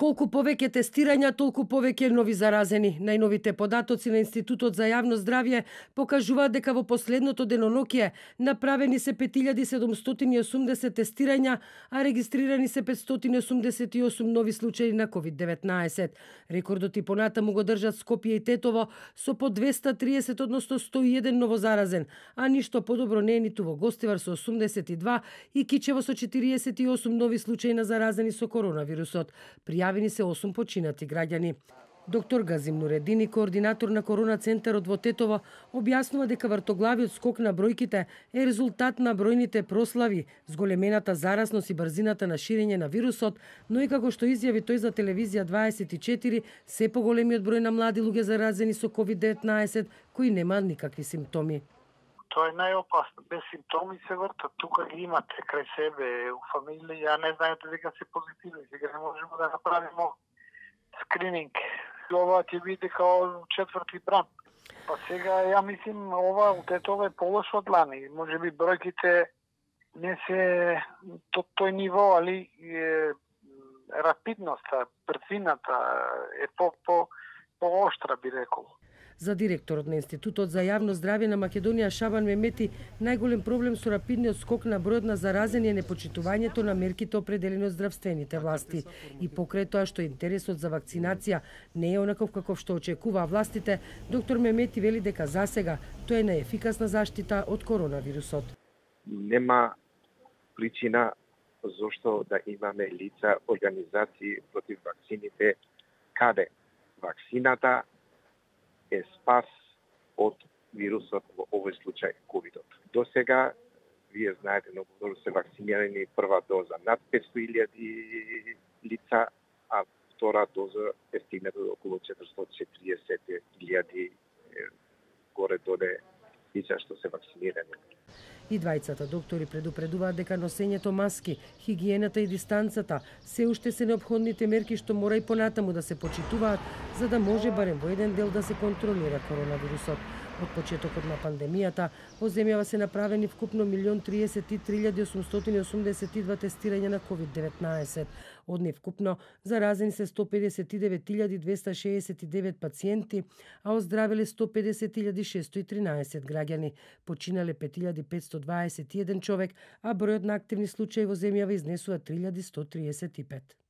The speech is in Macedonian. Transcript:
Колку повеќе тестирања, толку повеќе нови заразени. Најновите податоци на Институтот за јавно здравје покажуваат дека во последното деноноќие направени се 5780 тестирања, а регистрирани се 588 нови случаи на COVID-19. Рекордот и понатаму го држат Скопје и Тетово со по 230, односно 101 новозаразен, а ништо подобро не е ниту во Гостивар со 82 и Кичево со 48 нови случаи на заразени со коронавирусот. Пријавени се 8 починати граѓани. Доктор Газим Нуредини, координатор на Корона центарот во Тетово, објаснува дека вртоглавиот скок на бројките е резултат на бројните прослави, зголемената заразност и брзината на ширење на вирусот, но и како што изјави тој за телевизија 24, се поголемиот број на млади луѓе заразени со COVID-19 кои немаат никакви симптоми. Тоа е најопасно. Без симптоми се вртат. Тука ги имате крај себе, у фамилија, не знаете дека се позитивни. Сега не можеме да направиме скрининг. Ова ќе биде као четврти бран. Па сега, ја мислим, ова от Тетово е полошо од лани. Може би бројките не се тој ниво, али рапидноста, брзината е по-оштра, би рекол. За директорот на Институтот за јавно здравје на Македонија Шабан Мемети, најголем проблем со рапидниот скок на бројот на заразени е непочитувањето на мерките определени од здравствените власти. И покрај тоа што интересот за вакцинација не е онаков каков што очекуваа властите, доктор Мемети вели дека засега тоа е најефикасна заштита од коронавирусот. Нема причина зошто да имаме лица, организации против вакцините, каде вакцината е спас од вирусот во овој случај ковидот. До сега, вие знаете, многу добро се вакцинирани прва доза над 500.000 лица, а втора доза е стигната до околу 440.000 горе-доле лица што се вакцинирани. И двајцата доктори предупредуваат дека носењето маски, хигиената и дистанцата се уште се неопходните мерки што мора и понатаму да се почитуваат, за да може барем во еден дел да се контролира коронавирусот. Од почетокот на пандемијата, во земјава се направени вкупно 1.033.882 тестирања на COVID-19. Од нив вкупно заразени се 159.269 пациенти, а оздравеле 150.613 граѓани. Починале 5.521 човек, а бројот на активни случаи во земјава изнесува 3.135.